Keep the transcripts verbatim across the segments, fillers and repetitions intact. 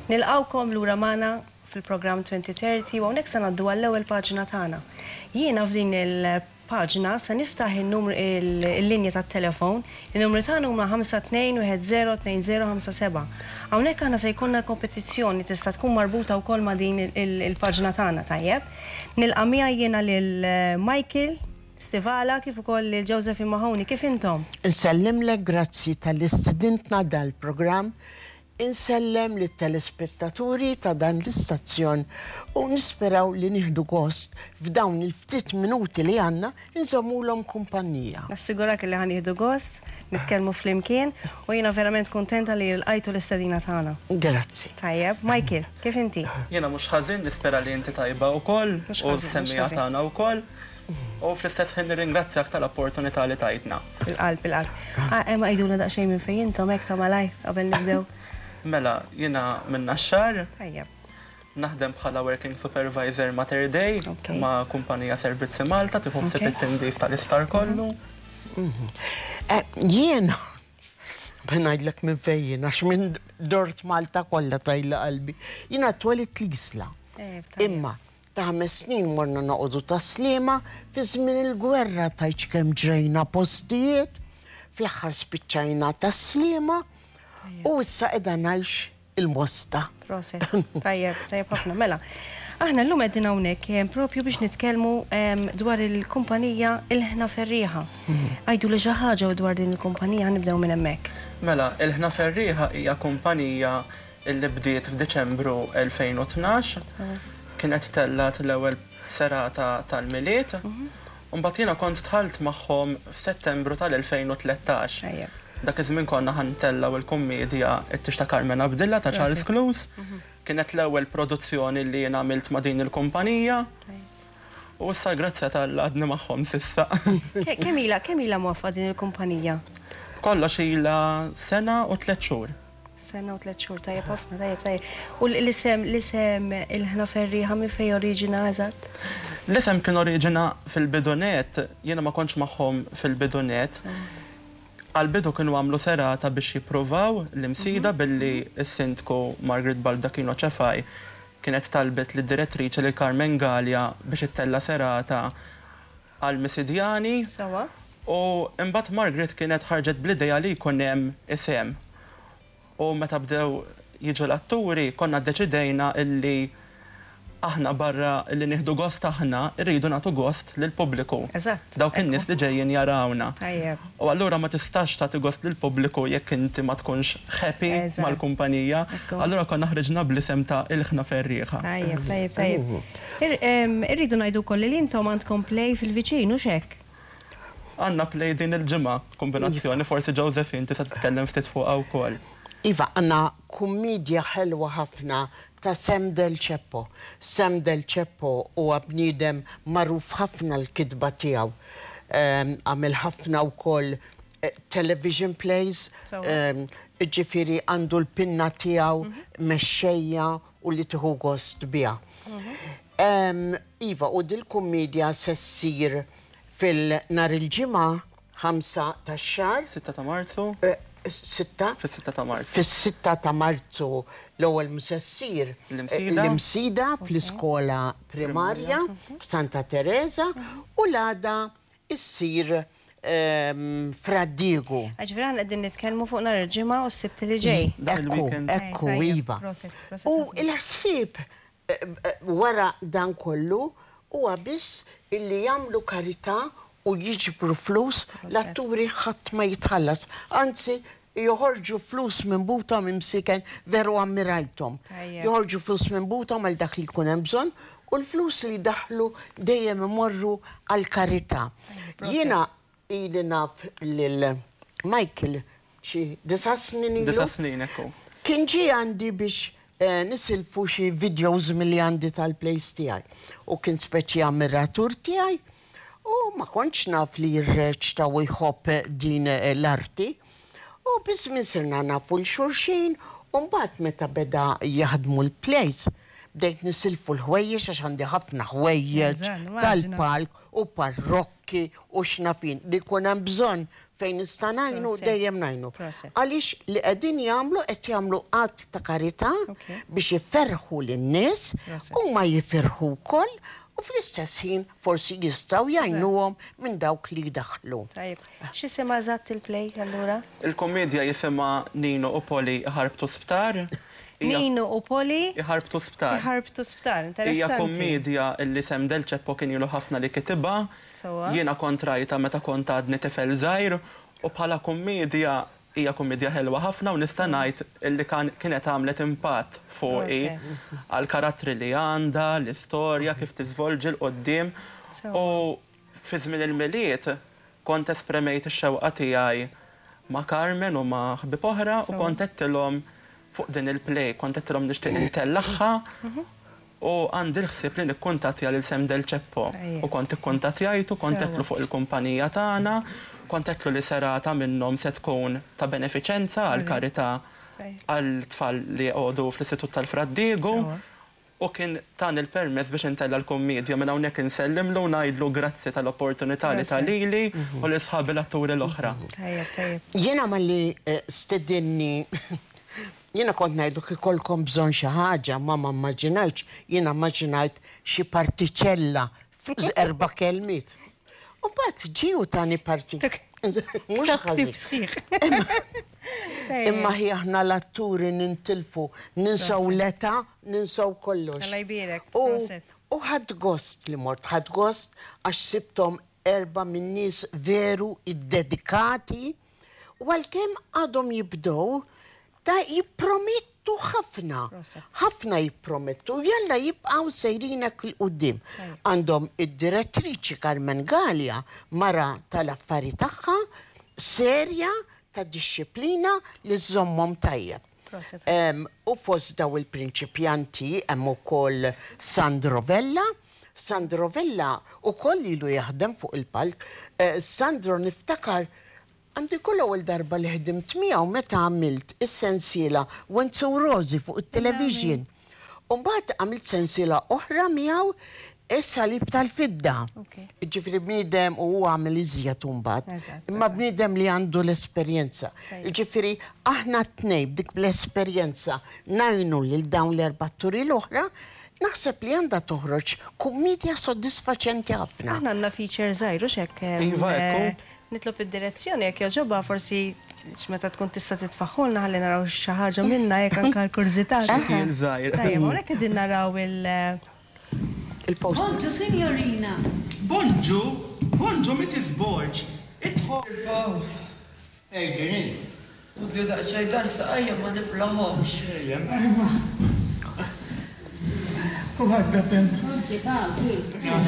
Nilqgħukom lura magħna fil-programm twenty thirty u hawnhekk se ngħaddu għall-ewwel paġna tagħna. Jiena f'din il-paġna se niftaħ il-numru, il-linja tat-telefon, il-numru tagħna huma ħamsa tnejn wieħed żero tnejn żero ħamsa seba'. Hawnhekk aħna se jkollna kompetizzjoni tista' tkun marbuta wkoll ma' din il-paġna tagħna, tajjeb. Nilqa' miegħi jiena lil Michael Stivala kif ukoll lil Josephine Mahoney. Kif intom? Insellimlek, grazzi talli stedintna dal-programm. Insellem lit telespettaturi ta' dan l-istazzjon u nisperaw li nieħdu gost f'dawn il-ftit minuti li għandna nżommulhom kumpanija. Nassigurak li ħa nieħdu gost, nitkellmu flimkien u jiena verament kontenta li lqajtu l-istedina tagħna. Grazzi. Tajjeb, Michael, kif inti? Jiena mhux ħażin, nispera li inti tajba wkoll Mhux u ħażin, mhux s-semmiegħa ħażin. tagħna wkoll. U fl-istess ħin nirringrazzjak tal-opportunità li tajtna. Il-qalb, il-qalb. Ah, Emma, għidulna daqsxejn minn fejn intom hekk ta' malaj qabel nibdew. Mela, jiena minn Naxxar, Tajjeb. naħdem bħala working supervisor Mater Dei Ok. ma' kumpanija Servizzi Malta tieħu ħsieb Ok. it-tindif tal-isptar kollu. Eh, Jiena, ma ngħidlek minn fejn, għax minn dort Malta kollha tajla qalbi. Jiena twelidt l-Isla. Eh, tajjeb. Imma ta' ħames snin morna noqogħdu Tas-Sliema. Fi żmien il-gwerra tajċ kemm ġrejna postijiet, fl-aħħar spiċċajna Tas-Sliema u issa qiegħda ngħix il-Mosta. Proset. Tajjeb, tajjeb ħafna. Mela, aħna llum qegħdin hawnhekk em, propju biex nitkellmu em, dwar il-kumpanija Il-Ħna Ferrieħa. Għiduli xi ħaġa dwar din il-kumpanija, nibdew minn hemmhekk. Mela, Il-Ħna Ferrieħa hija kumpanija illi bdiet f'Diċembru elfejn u tnax. Kienet tellat l-ewwel serata tal-Milied. Mbagħad jiena kont dħalt magħhom f'Settembru tal-elfejn u tlettax. Tajjeb. Dak iż-żmien konna ħa ntellgħu il-kummedja It-Tieġ ta' Carmen Abdilla ta' Charles Close. Kienet l-ewwel produzzjoni li jien għamilt ma' din il-kumpanija. U issa grazzi t'Alla għadni magħhom s'issa. Ke- Kemm ilha kemm ilha mwaqqfa din il-kumpanija? Kollox ilha sena u tliet xhur. Sena u tliet xhur, tajjeb ħafna, tajjeb, tajjeb. U l-isem l-isem Il-Ħna Ferrieħa minn fejn oriġina eżatt? L-isem kien oriġina fil-bidu nett, jiena ma kontx magħhom fil-bidu nett. Għal-bidu kienu għamlu serata biex jippruvaw l-Imsida billi s-sindku Margaret Baldacchino Ċefaj kienet talbet lid direttriċi lil Carmen Gallia biex ittella serata għal-Misidjani. Sewwa? U imbagħad Margaret kienet ħarġet bl-idea li jkun hemm isem. U meta bdew jiġu l-atturi, konna deċidejna illi aħna barra illi nieħdu gost aħna, irridu nagħtu gost lill-pubbliku. Eżatt. Dawk in-nies li ġejjin jarawna. Tajjeb. U allura ma tistax tagħti gost lill-pubbliku jekk inti ma tkunx happy Eżatt. mal-kumpanija. Ekku. Allura konna ħriġna bl-isem ta' Il-Ħna Ferrieħa. Tajjeb, tajjeb, tajjeb. Ir- em, Irridu ngħidu wkoll li intom għandkom play fil-viċin, u hekk? Għandna play din il-ġimgħa, kombinazzjoni, forsi Josephine tista' titkellem ftit fuqha wkoll. Iva, għandna kummedja ħelwa ħafna ta' Sam Del Ceppo. Sam Del Ceppo huwa bniedem magħruf ħafna l-kitba tiegħu. Em, Għamel ħafna wkoll eh, television plays, Sewwa. em, ġifieri għandu l-pinna tiegħu mexxejja u li tieħu gost biha. Em, Iva, u dil-kummedja se ssir fil-nhar il-Ġimgħa ħamsa tax-xahar. sitta ta' Marzu. Eh, Sitta? Fis-sitta ta' Marzu. Fis-sitta ta' Marzu l-ewwel se ssir L-Imsida. l-Imsida fl-iskola primarja Santa Teresa u l-għada issir ehm, Fra Diegu. Ġifieri aħna qegħdin nitkellmu fuq nhar il-Ġimgħa u s-Sibt li ġej. Dan Ekku, il-weekend. ekku, Tajjeb, iva. proset, proset U ħafna. il-ħsieb eh, eh, wara dan kollu huwa biss illi jagħmlu karità u jiġbru flus. L-atturi ħadd ma jitħallas. Anzi, joħorġu flus minn buthom imsiken, veru ammirajthom. Tajjeb. Joħorġu flus minn buthom għal dak li jkun hemm bżonn u l-flus li daħlu dejjem imorru għal karità. Proset. Jiena ili naf lil Michael xi disa' snin ilu. Disa' snin, ekku. Kien ġi għandi biex eh, nisilfu xi videos milli għandi tal-plays tiegħi. U kien speċi ammiratur tiegħi u ma kontx naf li jirreċta u jħobb din eh, l-arti. U biż-żmien sirna nafu 'l xulxin u mbagħad meta beda jaħdmu l-plays bdejt nisilfu l-ħwejjeġ għax għandi ħafna ħwejjeġ Eżatt, immaġina. tal-palk u parrokki. parrukki u xnafin li jkun hemm bżonn fejn nista' ngħinu dejjem ngħinu. Għaliex li qegħdin jagħmlu qed jagħmlu att ta' karità biex jiferħu lin-nies u ma jifirħu wkoll u fl-istess ħin forsi jistgħu jgħinuhom minn dawk li jdaħħlu. Tajjeb. X'jisimha eżatt il-play allura? Il-komedja jisimha Nino u Poli Ħarbtu Sptar. Nino u Poli Iħarbtu Sptar. Iħarbtu Sptar, interessanti. Hija kommedja li Sam Del Ceppo kien ilu ħafna li kitibha. Jiena kont rajta meta kont għadni tifel żgħir u bħala kommedja hija kommedja ħelwa ħafna u nista' ngħid illi kienet għamlet impatt fuqi għal karattri li għandha, l-istorja, kif tiżvolġi 'l quddiem. U fi żmien il-Milied kont espremejt ix-xewqa tiegħi ma' Carmen u ma' ħbieb oħra u kont għedtilhom fuq din il-play, kont għedtilhom nixtieq intellagħha u għandi l-ħsieb li nikkuntattja lil Sam Del Ceppo. U kont ikkuntattjajtu, kont għedtlu fuq il-kumpanija tagħna, kont għedtlu li serata minnhom se tkun ta' benefiċenza għal karità għal tfal li jqogħdu fl-Istitut tal-Fra Diegu u kien tani l-permess biex intella l-kommedja. Minn hawnhekk insellimlu u ngħidlu grazzi tal-opportunità li ta lili u lil sħabi l-atturi l-oħra. Tajjeb, tajjeb. Jiena malli stedinni jiena kont ngħidlu kif ikollkom bżonn xi ħaġa, ma ma immaġinajtx, jiena immaġinajt xi partiċella erba' kelmiet. U mbagħad ġie u tani parti. Mhux ħażin. Sħiħ. Imma hi aħna l-atturi nintilfu, ninsaw l-età, ninsaw kollox. Alla jbierek. U ħadt gost li mort, ħadt gost għax sibthom erba' minn nies veru iddedikati u għalkemm għadhom jibdew ta' jippromettu ħafna. Ħafna jippromettu, jalla jibqgħu sejrinek 'l quddiem. Għandhom id-direttriċi Carmen Galea, mara tal-affari tagħha, serja ta' disċiplina li żommhom tajjeb. U fost daw il-prinċipjanti hemm ukoll Sandro Vella. Sandro Vella ukoll ilu jaħdem fuq il-palk. Sandro niftakar għandi kull ewwel darba li ħdimt miegħu meta għamilt is-sensiela Wenzu Rosi fuq it-television. U mbagħad għamilt sensiela oħra miegħu is-salib tal-fidda. Ġifieri bniedem u huwa għamel iżjed mbagħad. Imma bniedem li għandu l-esperjenza. Ġifieri aħna t-tnejn b'dik l-esperjenza ngħinu lil dawn l-erba' atturi l-oħra, naħseb li għandha toħroġ kummedja soddisfaċenti ħafna. Aħna għandna feature żgħir u x'hekk. Iva, ekku. Nitlob id-direzzjoni jekk jogħġobha forsi meta tkun tista' titfaħħulna ħalli naraw xi ħaġa minna jekk anke l-kurżità. Xi żgħir. Tajjeb, hawnhekk qegħdin naraw il- il-post. Bonġu, signorina. Bonġu, bonġu, Missus Borg. Idħol. Ej, dini. Udju daqsxejn dan saqajja ma niflaħomx. Ejja, U ħadda fem.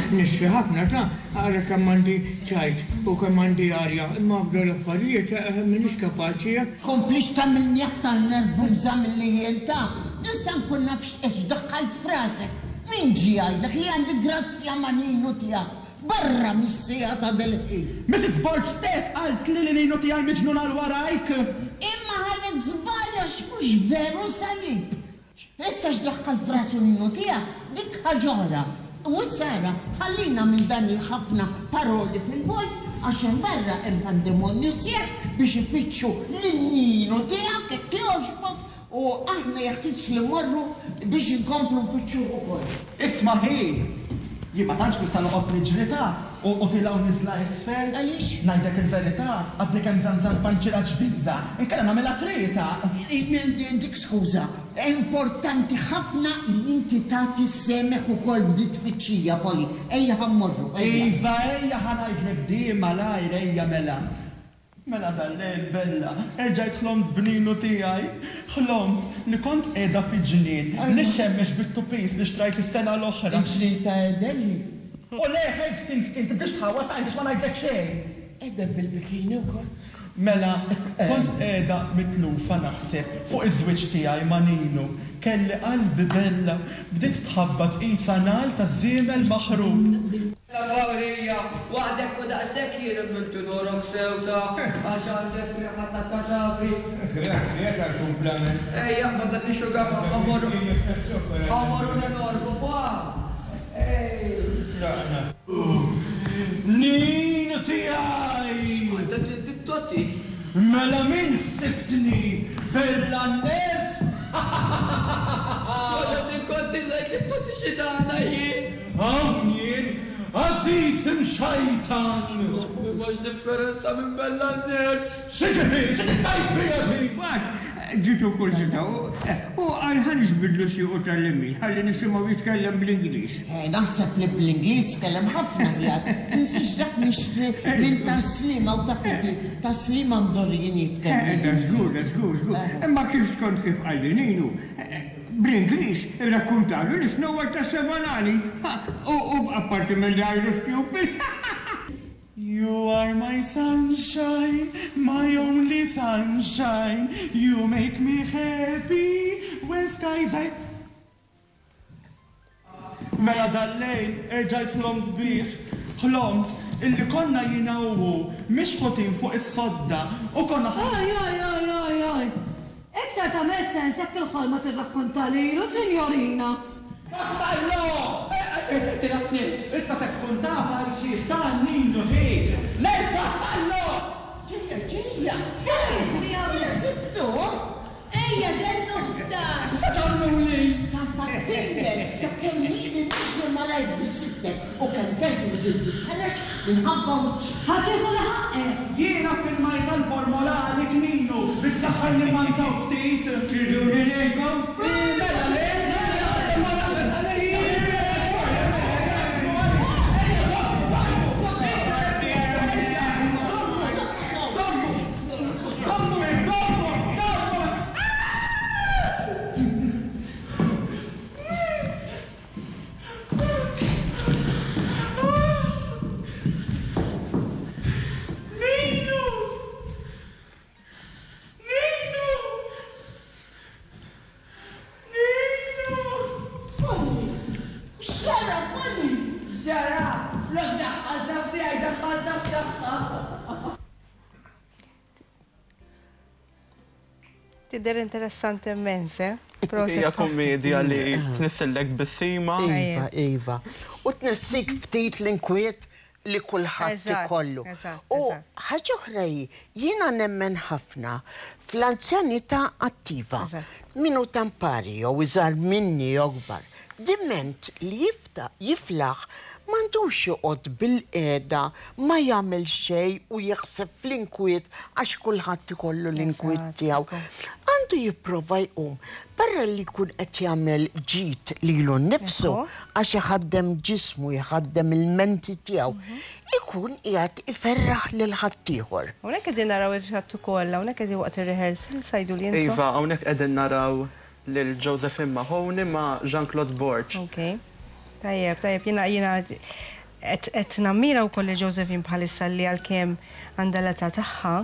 Nixfi ħafna ta' għara kemm għandi ċajt u kemm għandi arja, imma bda l-affarijiet m'iniex kapaċi. Komplix tagħmilni aktar nervuża milli jien ta' nista' nkun naf x'qed daħħalt frasek. Min ġie jgħidlek li għandi grazzja ma' Ninu tiegħek barra mis-sija ta' dil-ħin. Missus Borg stess qalt li li Ninu tiegħi miġnun għal warajk. Imma ħadet żball għax mhux veru salib. Issa x'daħħal frasu Ninu tiegħek dik ħaġa oħra. U issa ara, ħallina minn dan il-ħafna paroli fil-vojt għax hemm barra hemm pandemonju sieħ biex ifittxu lil Ninu tiegħek hekk jogħġbok u aħna jeħtieġ li mmorru biex inkomplu nfittxuh ukoll. Isma' hi, jien ma tantx nista' noqgħod niġri ta' u tilgħu niżla isfel. Għaliex? Ngħidlek il-verità, għadni kemm żanżan panċira ġdida, inkella nagħmilha trieta. Dik skuża, importanti ħafna li inti tagħti semek ukoll b'di tfittxija, Poli. Ejja ħa mmorru, ejja. Iva, ejja ħa ngħidlek di malajr, ejja mela. Mela dal-lejl bella, erġajt ħlomt b'Ninu tiegħi. Ħlomt li kont qiegħda fi ġnien, nixxemmex bit-tupis li xtrajt is-sena l-oħra. Il-ġnien ta' Eden? U le, Hastings, inti biex tħawwa tajt biex ma ngħidlek xejn. Eden bil-bikini wkoll. Mela, kont qiegħda mitlufa naħseb fuq iż-żwieġ tiegħi ma' Ninu. Kelli qalbi bella, bdiet tħabbat qisha nagħal ta' żiemel maħrub. La Pawlija, waħdek u daqshekk jien immintu norok sewta għax għandek riħa ta' katavri. Grazzi tal-kumplament. Ejja, ma dak ix-xuga ma ħamorru. Ħamorru l-enormu, pa. Ej. Ninu tiegħi! X'konta tinti? Mela min ħsibtni? Bella n-ners? X'konta tinkonti ngħid li Totti xitana jien? Hawn jien, għażiż imxajtan! M'hemmx differenza minn Bella n-ners. X'jiġifieri, xi tittajb bija din? Mbagħad ġitu kurżità u qal ħa niġbidlu siequ tal-lemin ħalli nisimgħu jitkellem bl-Ingliż. Naħseb li bl-Ingliż tkellem ħafna aħjar. Tinsiex dak mixtri minn Tas-Sliema u taf li Tas-Sliema mdorrijin jitkellmu. Da żgur, da żgur, żgur. Imma kif skont kif qalli Ninu, bl-Ingliż irrakkuntalu li Snow White tas-seba' nani. U apparti minn li għajru stupid. You are my sunshine, my only sunshine. You make me happy when skies are... Mela dal-lejl erġajt ħlomt bih, ħlomt illi konna jiena u hu mixħutin fuq is-sodda u konna Aj, aj, aj, aj, aj. Iktar tagħmel sens jekk il-ħolma tirrakkonta lilu, signorina. Vassallo! Għalfejn tagħtina t-nifs. Issa se tkun taf għal xiex ta' Ninu hi. Lejl Vassallo! Ġejja, ġejja! Ejja, Sibtu? Ejja, ġennu ħdax! Se tagħmluli? Zampattejlek, ta' kemm lili nixu malajr bis-sittek u kemm tgħid u żidt titħarreġ minħabba wiċċi. Ħa tieħu li ħaqqek. Jiena ffirmajt għall-formola għalik Ninu biex fl-aħħar nimmansaw ftit. Triduni ngħidkom? Mela le! Ninu! Ninu! Ninu! Polly! X'ġara, Polly? Ġara, flok daħħalta f'tiegħi daħħalta f'tagħha. Tidher interessanti immens, eh? Proset. Hija kommedja li tnissillek bissima. Iva, iva. U tnessik ftit l-inkwiet li kulħadd Eżatt, ikollu. eżatt, U eżatt. ħaġa oħra hi, jiena nemmen ħafna fl-anzjanità attiva. Eżatt. Min hu tampari jew iżgħar minni jew akbar. Diment li jifta jiflaħ m'għandux joqgħod bil-qiegħda ma jagħmel xejn u jaħseb fl-inkwiet għax kulħadd ikollu l-inkwiet Eżatt, tiegħu. ekku. Għandu jipprova jqum barra li jkun qed jagħmel ġid lilu nnifsu Ekku. għax iħaddem ġismu, jħaddem il-menti tiegħu, ikun qiegħed iferraħ lil ħaddieħor. Hawnhekk qegħdin naraw il-ħadd ukoll, hawnhekk qegħdin waqt ir-rehearsal sajdu li intom. Iva, hawnhekk qegħdin naraw lil Josephine Mahoney ma' Jean-Claude Borg. Ok. Tajjeb, tajjeb, jiena jiena qed qed nammira wkoll li Josephine bħalissa li għalkemm għandha l-età tagħha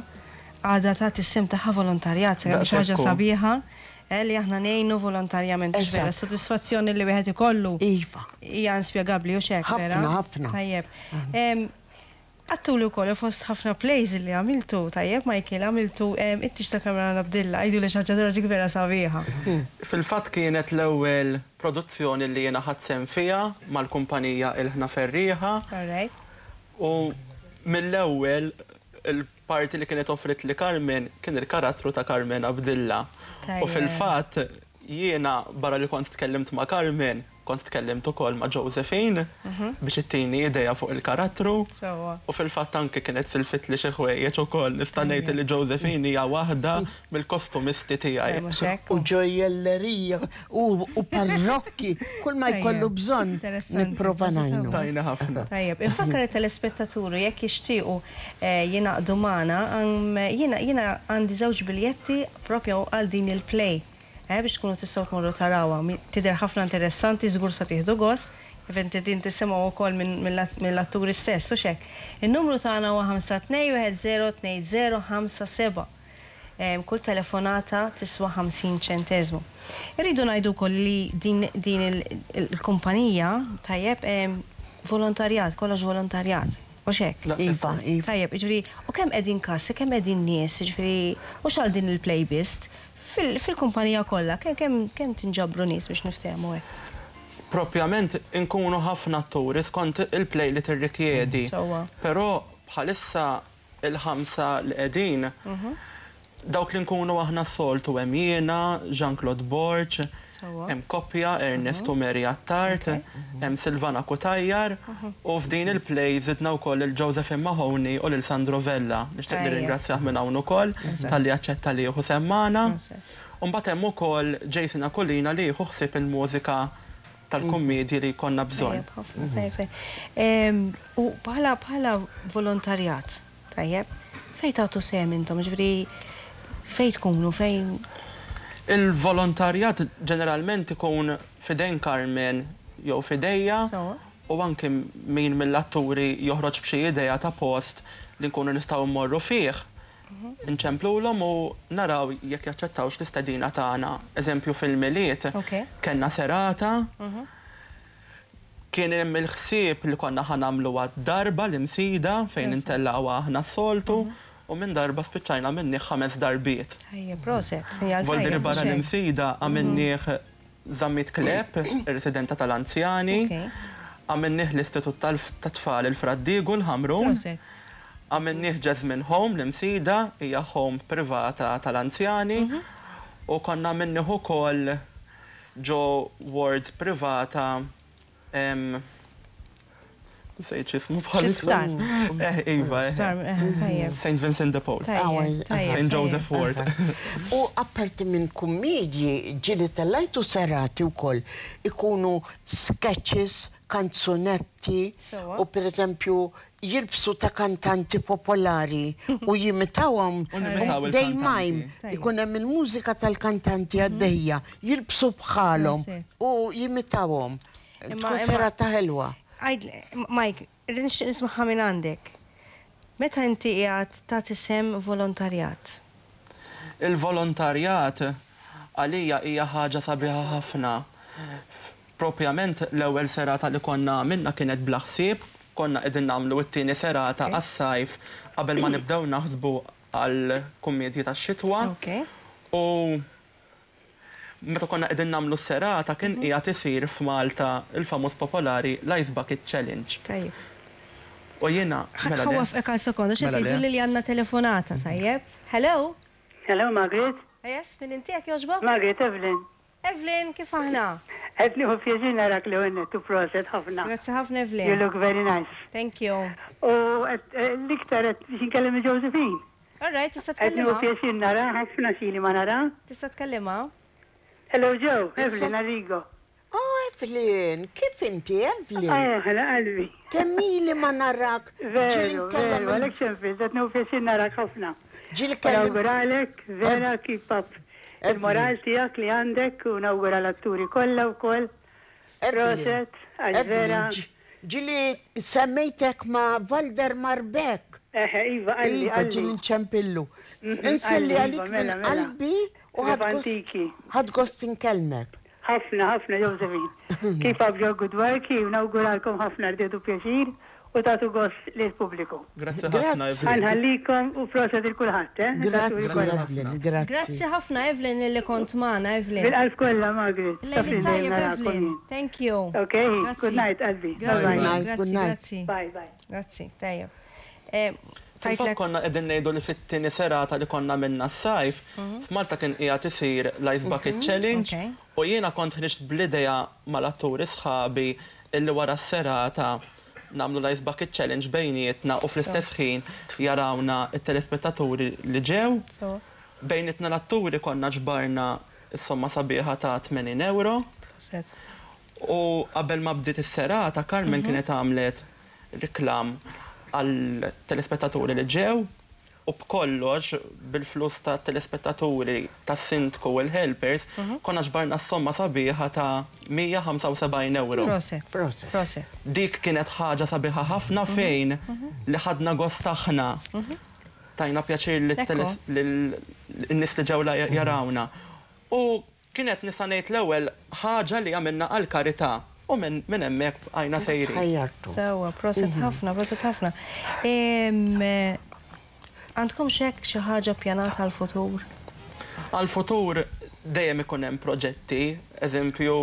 għadha tagħti s-sehem tagħha volontarjat, xi ħaġa Daqshekk hu. sabiħa eh, li aħna ngħinu volontarjament. Eżatt. Vera, sodisfazzjoni li wieħed ikollu Iva. hija inspjegabbli u x'hekk, Ħafna, vera? ħafna. Tajjeb. Em, Għattuli wkoll fost ħafna plays li għamiltu, tajjeb, Michael, għamiltu em, it-tieġ ta' Karmenu Abdilla, għidu li xi ħaġa dwar dik vera sabiħa. Fil-fatt kienet l-ewwel produzzjoni li jiena ħadt sehem fiha mal-kumpanija Il-Ħna Ferrieħa All right. u mill-ewwel il-parti li kienet offrit li Carmen kien il-karattru ta' Carmen Abdilla. U Tajjeb. fil-fatt jiena barra li kont tkellimt ma' Carmen, kont tkellimt ukoll ma' Josephine biex ittini idea fuq il-karattru. Sewwa. U fil-fatt anke kienet silfit li xi ħwejjeġ ukoll nista' ngħid li Josephine hija waħda mill-kostumisti tiegħi. Mhux hekk? U ġojjellerija u, u parrokki, kull ma jkollu Tajjeb. bżonn Interessanti. nipprova ngħinu. Tajna ħafna. Tajjeb, infakkar it-telespettaturi jekk jixtiequ eh, jingħaqdu magħna, għam- jiena jiena għandi żewġ biljetti propju għal din il-play. Eh, biex tkunu tistgħu tmorru tarawha. Mi- Tidher ħafna interessanti, żgur sa tieħdu gost, kif inti din tisimgħu wkoll minn- mill- mill-atturi stess, u xek. In-numru tagħna huwa ħamsa tnejn wieħed żero tnejn żero ħamsa seba'. Em, Kull telefonata tiswa ħamsin ċenteżmu. Irridu ngħidu wkoll li din, din il- il-kumpanija tajjeb em, volontarjat, kollox volontarjat. U xek? Iva, iva. Tajjeb, jiġifieri, u kemm qegħdin kassi, kemm qegħdin nies, jiġifieri, mhux għal din il-playlist, fil-kumpanija kollha, kemm kemm kemm tinġabru nies biex niftehmu hekk? Propjament inkunu ħafna atturi skont il-play li tirrikjedi. Però bħalissa il-ħamsa li qegħdin, dawk li nkunu aħna s-soltu hemm jiena, Jean-Claude Borg, hemm koppja Ernest u Mary Attard, hemm Silvana Cutajar, u f'din il-play żidna wkoll il Josephine Mahoney u lil Sandro Vella. Nixtieq nirringrazzjah minn hawn ukoll talli aċċetta li jieħu sehem magħna. U mbagħad hemm ukoll Jason Aquilina li jieħu ħsieb il-mużika tal-kummedji li konna bżonn. U bħala bħala volontarjat, tajjeb, fejn tagħtu sehem intom, ġifieri fejn tkunu, fejn? Il-volontarjat ġeneralment ikun f'idejn Carmen jew f'idejja, u anke min mill-atturi joħroġ b'xi idea ta' post li nkunu nistgħu mmorru fih. Nċemplulhom u naraw jekk jaċċettawx l-istedina tagħna. Eżempju, fil-Milied kellna serata, kien hemm il-ħsieb li konna ħa nagħmluha darba l-Imsida fejn intellgħuha aħna s-soltu, u minn darba spiċċajna minni ħames darbiet. Ejja, proset. Voldiri barra l-Imsida għamilnieh Zammit Kleb, ir-residenta tal-anzjani, għamilnieh l-Istitut tat-Tfal il-Fra Diegu l-Ħamrun, għamilnieh Jasmine Home l-Imsida, hija home privata tal-anzjani, u konna għamilnieh ukoll ġo ward privata, nsejt x'ismu bħalissa. Eh, iva, Saint Vincent de Paul. Saint Joseph Ward. U apparti minn kummedji, ġieli tellajtu serati wkoll, ikunu sketches, kanzunetti, u per eżempju jilbsu ta' kantanti popolari u jimitawhom dej mime, ikun hemm il-mużika tal-kantanti għaddejja, jilbsu bħalhom u jimitawhom. Tkun serata ħelwa. Mike, nixtieq nismaħħa minn għandek. Meta inti qiegħed tagħti sehem volontarjat? Il-volontarjat għalija hija ħaġa sabiħa ħafna. Propjament l-ewwel serata li konna minna kienet bla ħsieb, konna qegħdin nagħmlu t-tieni serata għas-sajf qabel ma nibdew naħsbu għal kummedji tax-xitwa. U meta konna qegħdin nagħmlu s-serata kien qiegħed isir f'Malta il-famuż popolari l-Ice Bucket Challenge. Tajjeb. U jiena mela. Ħa nwaqqfek għal sekonda, xi tgħidu li għandna telefonata, tajjeb. Hello? Hello, Margaret. Yes, min inti, jekk jogħġbok? Margaret, Evelyn. Evelyn, kif aħna? Qed nieħu pjaċir narak li għennet u proset ħafna. Grazzi ħafna, Evelyn. You look very nice. Thank you. U l-iktar qed biex nkellem Josephine. All right, tista' Qed nieħu tkellimha. pjaċir nara ħafna xili ma nara. Tista' tkellimha. Hello, Joe, Evelyn Arrigo. Oh, Evelyn, kif inti, Evelyn? Oh, ħela qalbi. Kemm ili ma narak. Veru, veru, għalek xemfil, qed nieħu pjaċir narak ħafna. Ġieli kellim. Nawguralek, vera, keep up. Il-moral tiegħek li għandek u nawgura l-atturi kollha wkoll. Proset, għax vera. Ġieli semmejtek ma' Valder Marbek. Eħe, Iva, qalli, Iva, qalli. ġieli nċempillu. Mhm, Inselli qalli, għalik Iva, minn mela, mela. qalbi u Iva antiki. ħadt gost inkellmek. Ħafna, ħafna, Josephine. Keep up your good work, u nawguralkom ħafna rdedu pjaċir u tagħtu gost lill-pubbliku. Grazzi ħafna, Grazzi. Evelyn. Nħallikom u proset lil kulħadd, eh? Grazzi, kollha. Evelyn, grazzi. Grazzi ħafna, Evelyn, li kont magħna, Evelyn. Bil-qalb kollha, Margaret. Lejli Taf li tajjeb, narakom Evelyn. jien. Thank you. Okay, Grazzi. good night, qalbi. Grazzi, Bye bye. night, good grazzi, night. grazzi. Bye bye. Grazzi, tajjeb. Eh, Fil-fatt Tajtlek, konna qegħdin ngħidu li fit-tieni serata li konna minna s-sajf, f'Malta kien qiegħed isir l-Ice Bucket Challenge Okay. u jiena kont ħriġt bl-idea mal-atturi sħabi illi wara s-serata nagħmlu l-Ice Bucket Challenge bejnietna u fl-istess ħin jarawna it-telespettaturi li ġew. So, Bejnietna l-atturi konna ġbarna s-somma sabiħa ta' tmenin euro. Proset. U qabel ma bdiet is-serata, Carmen kienet għamlet reklam għal telespettaturi li ġew u b'kollox bil-flus ta' telespettaturi, tas-sindku u l-helpers konna ġbarna s-somma sabiħa ta' mija u ħamsa u sebgħin euro. Proset. Proset. Proset. Dik kienet ħaġa sabiħa ħafna fejn li ħadna gost aħna. Tajna pjaċir Ekku. lin-nies li ġew la jarawna. U kienet nista' ngħid l-ewwel ħaġa li għamilna għal karità u minn minn hemmhekk għajna sejrin. Tħajjartu. Sewa, proset ħafna, proset ħafna. Em, eh, Għandkom xek xi ħaġa pjanata għal-futur? Għal-futur dejjem ikun hemm proġetti, eżempju,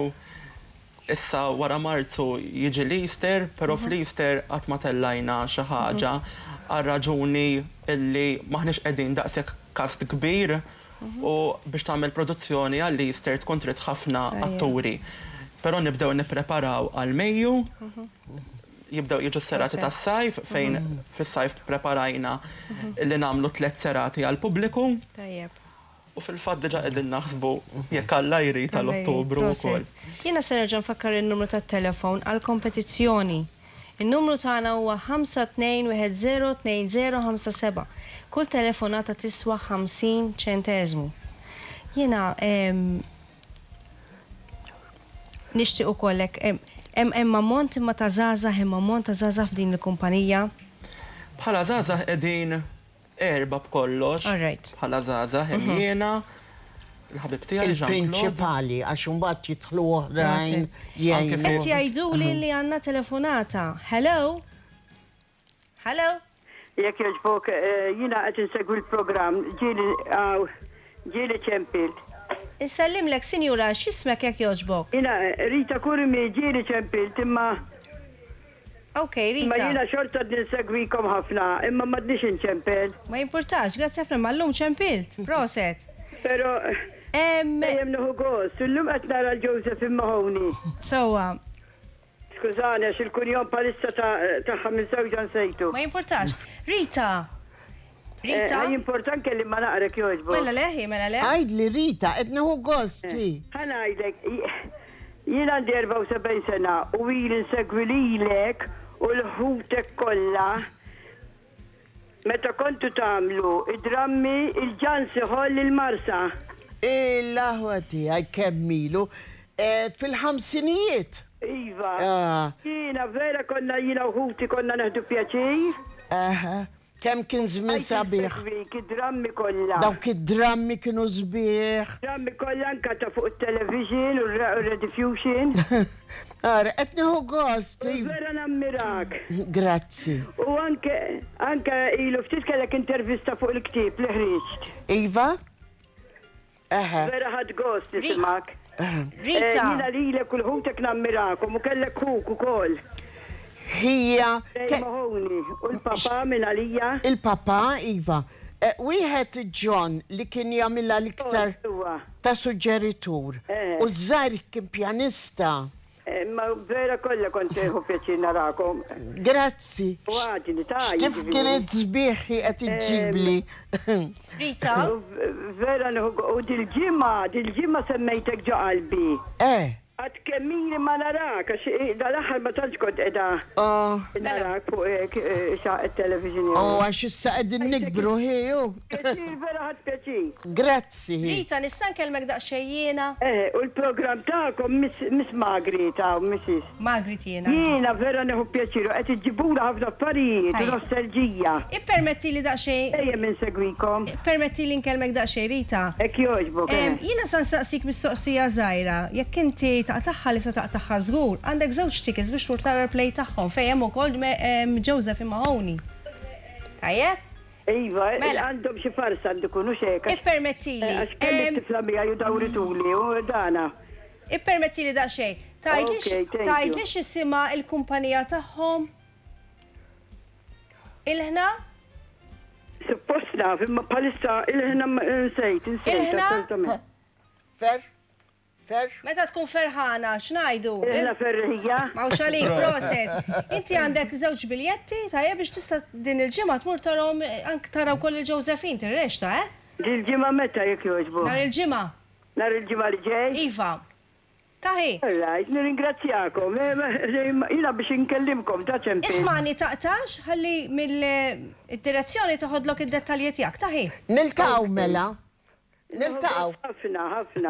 Issa wara Marzu jiġi l-Easter, però fl-Easter qatt ma tellajna xi ħaġa għal raġuni illi maħniex qegħdin daqshekk cast kbir u biex tagħmel produzzjoni għall-Easter tkun trid ħafna atturi. Però nibdew nippreparaw għal Mejju, jibdew jiġu serati tas-sajf fejn fis-sajf preparajna li nagħmlu tliet serati għal pubbliku. Tajjeb. U fil-fatt diġà qegħdin naħsbu jekk Alla jrid tal-Ottubru wkoll. Jiena se nerġa' nfakkar in-numru tat-telefon għall-kompetizzjoni. In-numru tagħna huwa ħamsa tnejn wieħed żero tnejn żero ħamsa seba'. Kull telefonata tiswa ħamsin ċenteżmu. Jiena nixtieq ukoll hekk hemm hemm ammont imma ta' żgħażagħ, hemm ammont ta' żgħażagħ f'din il-kumpanija. Bħala żgħażagħ qegħdin erba' b'kollox. All right. Bħala żgħażagħ hemm jiena, il-ħabib tiegħi Jean-Claude. Il-prinċipali, għax imbagħad jidħlu oħrajn Anke jgħinu. Qed jgħiduli li għandna telefonata. Hello? Hello? Jekk jogħġbok, jiena qed insegwi l-programm, ġieli ġieli ċempilt. Insellimlek, sinjura, x'ismek jekk jogħġbok? Jiena Rita Curmi, ġieli ċempilt, imma Ok, Imma Rita. jiena xorta ninsegwikom ħafna, imma m'għadniex inċempel. Ma jimpurtax, grazzi ħafna, ma llum ċempilt. Proset. Però dejjem nieħu gost, illum qed nara l-Josephine Mahoney. Sewwa. Skużani għax il-kunjom palissa tagħha minn żewġha nsejtu. Ma jimpurtax. Rita. Rita. Eh, jimporta anke li ma naqrek jogħġbok. Mela leħi, mela le. Għidli Rita, qed nieħu gost. Ħa ngħidlek, jien għandi erbgħa u sebgħin sena u ili nsegwi lilek u l-ħutek kollha. Meta kontu tagħmlu id-drammi il-ġansi ħoll il-Marsa. Il-aħwa tiegħi kemm ilu fil-ħamsinijiet. Iva. Jiena vera konna jiena u ħuti konna neħdu pjaċir. Aha. Kemm kien żmien sabiħ. Dawk id-drammi kollha. Dawk id-drammi kienu sbieħ. Drammi kollha anke ta' fuq it-television u r-rediffusion. Ara, qed nieħu gost. Vera nammirak. Grazzi. U anke anke ilu ftit kellek intervista fuq il-ktieb li ħriġt. Iva? Aha. Vera ħadd gost nisimgħek. Rita. Jiena lilek u l-ħutek nammirakom u kellek ħuk ukoll. Hija. Mahoney u l-papa minn għalija. Il-papa, Iva. Wieħed John li kien jagħmilha l-iktar ta' suġġeritur. U żgħar kien pjanista. Ma vera kollha kont tieħu pjaċir narakom. Grazzi. U għadni ta' X'tifkiriet sbieħ qed iġġibli. Rita. Vera nieħu u dil-ġimgħa, dil-ġimgħa semmejtek ġo qalbi. Eh. Għad kemm ili ma narak, għax dal-aħħar ma tantx kont qiegħda narak fuq xaq it-television. Oh, għax issa qegħdin nikbru ħiju. Pjaċir, vera ħadd pjaċir. Grazzi. Rita, nista' nkellmek daqsxejn jiena? Eh, u l-programm tagħkom Miss Margaret hawn, Missus Margaret jiena. Jiena vera nieħu pjaċir u qed iġġibula ħafna affarijiet u nostalġija. Ippermetti li daqsxejn. Dejjem insegwikom. Permetti li nkellmek daqsxejn, Rita. Hekk jogħġbok. Jiena sa nsaqsik mistoqsija żgħira, jekk inti taqtaħħa li se taqtaħħa żgur, għandek żewġ tickets biex tmur tara l-play tagħhom fejn hemm ukoll Joseph Mahoney. Tajjeb? Iva, għandhom xi farsa għandu jkunu xejn. Ippermettili. Għax kelli tifla miegħi u dawrituli u dana. Ippermettili daqsxejn. Tgħidli x'isimha l-kumpanija tagħhom? Il-ħna? Suppost naf, imma bħalissa il-ħna nsejt, nsejt. Il-ħna? Fer? Fer? Meta tkun ferħana, x'ngħidu? Il-ħna ferħija. Mawx għalik, proset. Inti għandek żewġ biljetti, tajjeb biex tista' din il-ġimgħa tmur tarahom anke taraw koll il-Josephine tirrexta, eh? Dil-ġimgħa meta jekk jogħġbu? Nhar il-ġimgħa. Nhar il-ġimgħa li ġej? Iva. Taħi. Right, nirringrazzjakom. Jiena biex inkellimkom ta' ċempi. Ismani taqtax, ħalli mill-direzzjoni toħodlok id-dettalji tiegħek, taħi. Niltaqgħu mela. Niltaqgħu. Ħafna, ħafna.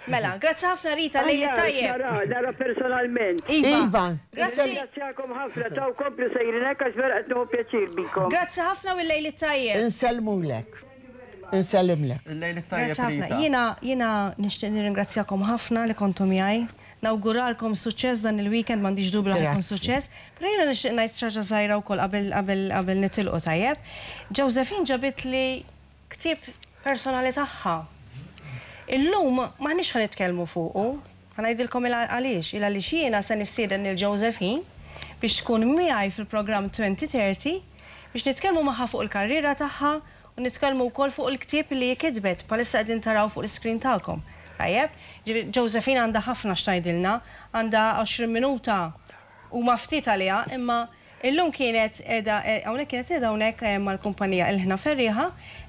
Mela, grazzi ħafna Rita, lejli tajjeb. Nara, nara personalment. Iva. Grazzi. Ringrazzjakom ħafna, taw komplu sejrin hekk għax vera qed nieħu pjaċir bikom. Grazzi ħafna u l-lejli tajjeb. Insellmulek. Insellimlek. Il-lejli tajjeb. Grazzi ħafna. Jiena jiena nixtieq nirringrazzjakom ħafna li kontu miegħi. Nawguralkom suċċess dan il-weekend, m'għandix dubju li ħajkun suċċess. Però jiena nixtieq ngħid xi ħaġa żgħira wkoll qabel qabel qabel nitilqu tajjeb. Josephine ġabit li ktieb personali tagħha. Illum m'aħniex ħa nitkellmu fuqu, Ħa ngħidilkom għaliex, il għaliex jiena se nistieden lil Josephine biex tkun miegħi fil-programm twenty thirty biex nitkellmu magħha fuq il-karriera tagħha u nitkellmu wkoll fuq il-ktieb li kitbet bħalissa qegħdin taraw fuq l-iskrin tagħkom. Tajjeb, Josephine għandha ħafna x'tgħidilna, għandha għoxrin minuta u ma ftit għaliha, imma illum kienet qiegħda hawnhekk kienet qiegħda hawnhekk eh, mal-kumpanija Il-Ħna Ferrieħa,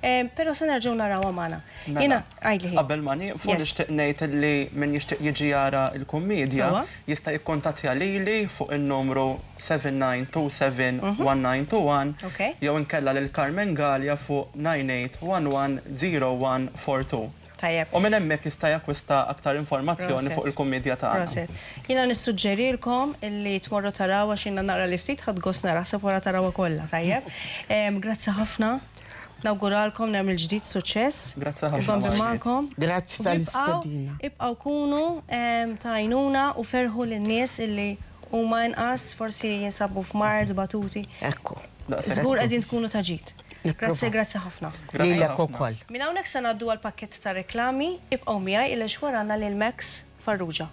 eh, però se nerġgħu narawha magħna. Mela, Jiena għidli. Qabel ma nieqfu, Yes. nixtieq ngħid li min jixtieq jiġi jara l-kummedja Sewwa. jista' jikkontattja lili fuq in-numru seven nine two seven one nine two one Okay. jew inkella lil Carmen Gallia fuq nine eight one one zero one four two. Tajjeb. U minn hemmhekk jista' jakkwista aktar informazzjoni Proset. fuq il-kummedja tagħna. Proset. Jiena nissuġġerilkom illi tmorru taraw għax jiena naqra li ftit ħadt gost nara ħseb wara tarawha kollha, tajjeb. Em, Grazzi ħafna. Nawguralkom nagħmel ġdid suċċess. Grazzi ħafna, Ibqgħu Margaret. magħkom. Grazzi U tal-istedina. Ibqgħu ibqgħu kunu em, tajnuna u ferħu lin-nies illi huma inqas forsi jinsabu f'mard, batuti. Ekku. Daqshekk. Żgur qegħdin tkunu ta' ġid. Nipprova. Grazzi, grazzi ħafna. Grazzi Lilek ħafna. ukoll. Minn hawnhekk se ngħaddu għal pakkett ta' reklami, ibqgħu miegħi illa xwara għandna lil Max Farrugia.